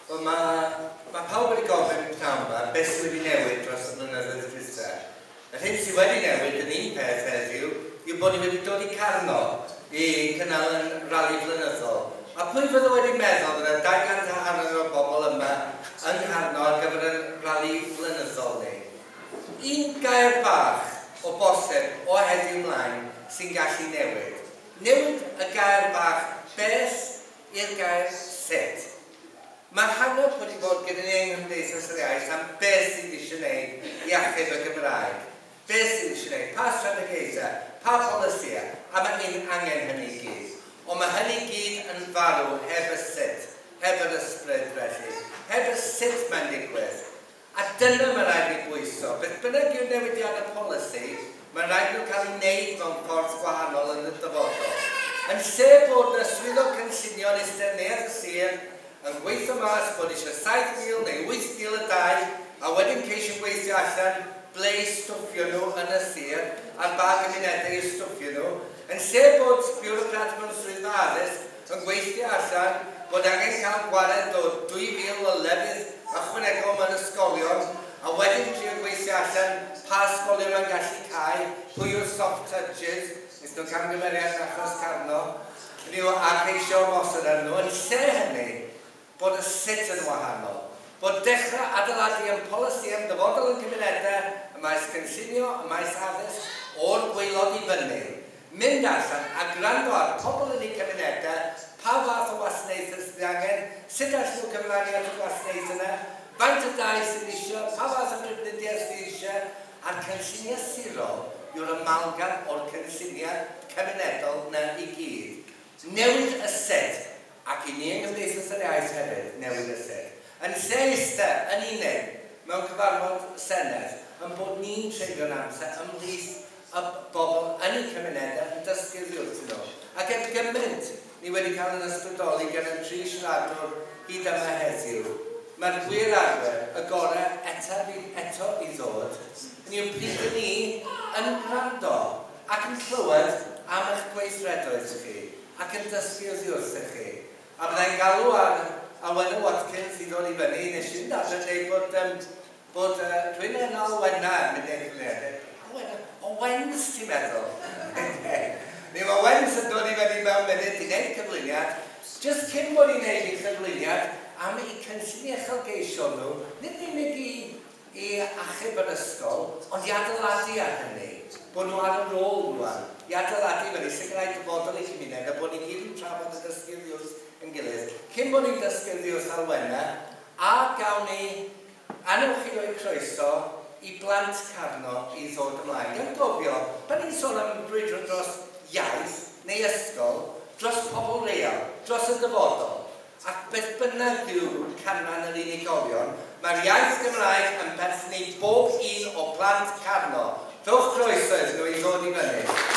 Wel, mae pawb wedi gofyn pnawn yma beth sydd wedi newid dros y blynyddoedd dwytha. Yr hyn sydd wedi newid yn un peth heddiw yw bod ni wedi dod i Carno i cynnal yn rali flynyddol. A pwy fydde wedi meddwl fydde 250 o bobl yma yng Ngharno ar gyfer yn rali flynyddol ni? Un gair bach o bosib o heddiw mlaen sy'n gallu newid. Newid y gair bach beth i'r gair sut. Mae hanner wedi bod gyda ni yng Nghymdeithas yr Iaith am beth sydd eisiau gwneud i achub y Gymraeg. Beth sydd eisiau gwneud, pa strategaethau, pa polisïau, a mae un angen hynny i gyd. Ond mae hynny i gyd yn farw heb y sut, heb yr ysbryd felly, heb y sut mae'n digwydd. A dyna mae rhaid ni bwyso. Beth bynnag yw'r newidiadau polisi, mae'n rhaid nhw cael ei wneud mewn ffordd gwahanol yn y dyfodol. Yn lle bod na swyddog cynllunio yn eistedd neuadd y sir yn gweithio mas bod eisiau 7,000 neu 8,000 y dau, a wedyn ceisio gweithio allan ble i stwffio nhw yn y sir, a'r ba gymunedau i stwffio nhw, yn lle bod biwrocrat mewn swyddfa addysg yn gweithio allan bod angen cael gwared o 2,000 o lefydd ychwanegol mewn ysgolion, a wedyn trio gweithio allan pa ysgolion mae'n gallu cau, pwy yw'r soft touches, nes nhw camgymeriad yn achos Carno, hynny yw, a ceisio ymosod arnyn nhw. Yn lle hynny, bod y sut yn wahanol. Bod dechrau adeiladu yn polisi am dyfodol yn cymunedau, y maes cynllunio, y maes addysg, o'r gwaelod i fyny. Mynd allan a gwrando ar pobl yn eu cymunedau, pa fath o wasanaethau sydd angen, sut allan nhw cyfrannu at y gwasanaethau yna, faint o dai sydd eisiau, pa fath o drafnidiaeth sydd eisiau, a'r cynlluniau sirol yw'r amalgam o'r cynlluniau cymunedol na i gyd. Newid y sut, ac i ni yng Nghymdeithas yr Iaith hefyd, newid y sut. Yn lle eistedd yn unig mewn cyfarfod Senedd, yn bod ni'n treulio'n amser ymhlith y bobl yn eu cymunedau yn dysgu oddi wrthyn nhw. Ac er gymaint ni wedi cael yn ysbrydoli gan y tri siaradwr hyd yma heddiw, mae'r gwir arfer, y gorau eto i ddod, yn yw pryd ydyn ni yn gwrando ac yn clywed am eich gweithredoedd chi ac yn dysgu oddi wrthych chi. A byddai'n galw ar Alwena Watkins i ddod i fyny, nes i'n dadlau dweud bod rhywun yn Alwena yn mynd i'r cymunedau. Alwena? O Wens, ti'n meddwl? Neu mae Wens yn dod i fyny mewn munud i wneud cyflwyniad. Just cyn bod ni'n gwneud ei chyflwyniad am eu cynllun uchelgeisiol nhw, nid yn unig i achub yr ysgol, ond i adeiladu ar hynny. Bod nhw ar y rôl rwan, i adeiladu fyny, sicrhau dyfodol eu cymuned, a bod ni gyd yn trafod y dysgu oddi wrth yn gilydd. Cyn bod ni'n dysgu oddi wrth Alwena, a gawn ni, anewch chi roi croeso i blant Carno i ddod ymlaen. Gan gofio, pan ni'n sôn am brwydro dros iaith neu ysgol, dros pobl real, dros y dyfodol, ac beth bynnag yw canran yr unigolion, mae'r iaith Gymraeg yn perthyn i bob un o plant Carno. Rhowch croeso iddyn nhw i ddod i fyny.